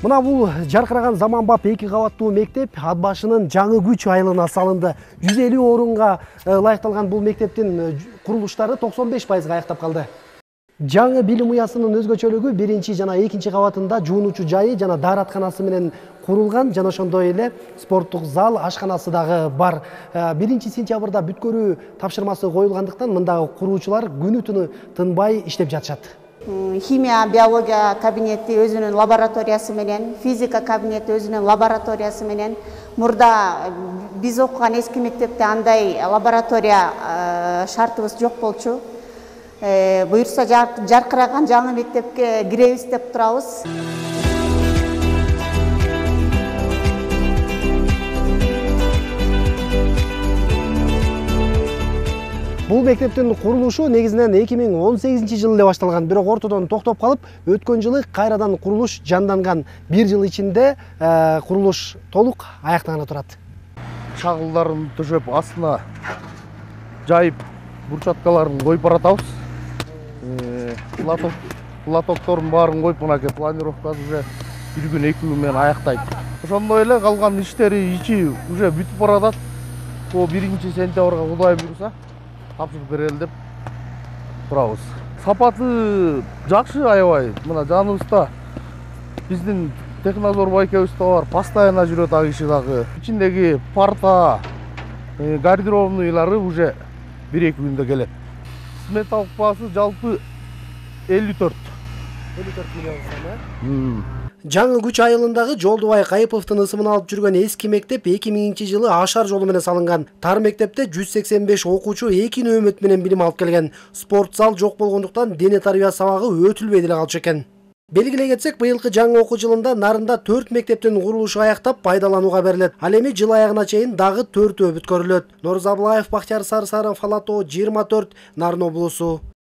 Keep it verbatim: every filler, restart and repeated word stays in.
Мына бул жаркыраган заманбап эки кабаттуу мектеп ат башынын жаңы күч айылына салынды. жүз элүү орунга ылайыкталган бул мектептин курулуштары токсон беш пайызга аяктап калды. Жаңы билим уясынын өзгөчөлүгү биринчи жана экинчи кабатында жуунуучу жайы жана дааратканасы менен курулган, жана ошондой эле спорттук зал, ашканасы дагы бар. биринчи сентябрда бүткөрүү тапшырмасы коюлгандыктан мындагы куруучулар күнү түнү тынбай иштеп жатышат. Химия, биология кабинети өзүнүн лабораториясы менен, физика кабинети өзүнүн лабораториясы менен. Мурда биз окуган эски мектепте андай лаборатория шартыбыз жок болчу. Буюрса жаркыраган жаңы мектепке киребиз деп турабыз. Бул мектептин курулушу негизинен эки миң он сегизинчи жылы эле башталган, бирок ортодон токтоп калып, өткөн жылы кайрадан курулуш жанданган. Бир жыл ичинде курулуш толук аяктана турат. Чагылдарын төшөп, астына жайып, бурчаткаларын коюп баратабыз. Лотоктордун баарын коюп, мынакей планировкасы уже бир күн эки күн менен аяктайт. Ошондой эле калган иштери ичи уже бүтүп баратат. О биринчи сентябрга Кудай буйруса тапшырып берели деп турабыз. Сапаты жакшы аябай. Мына жаныбызда биздин Технозор байкебиз да бар, постоянно жүрөт ал киши дагы. Ичиндеги парта, гардеробныйлары уже бир эки күндө келет. Сметалык баасы жалпы элүү төрт миллион сом. Жаңы күч айылындагы Жолдубай Кайыповдун ысымын алып жүргөн эски мектеп эки миңинчи жылы ашар жолу менен салынган. Тар мектепте жүз сексен беш окуучу эки нөөмөт менен билим алып келген. Спорт зал жок болгондуктан дене тарбия сабагы өтүлбөй деле калчу экен. Белгилей кетсек, быйылкы жаңы окуу жылында Нарында төрт мектептин курулушу аяктап пайдаланууга берилет. Ал эми жыл аягына чейин дагы төртөө бүткөрүлөт. Норзаблаев, Бактияр Сарсаров, Алатоо, жыйырма төрт, Нарын облусу.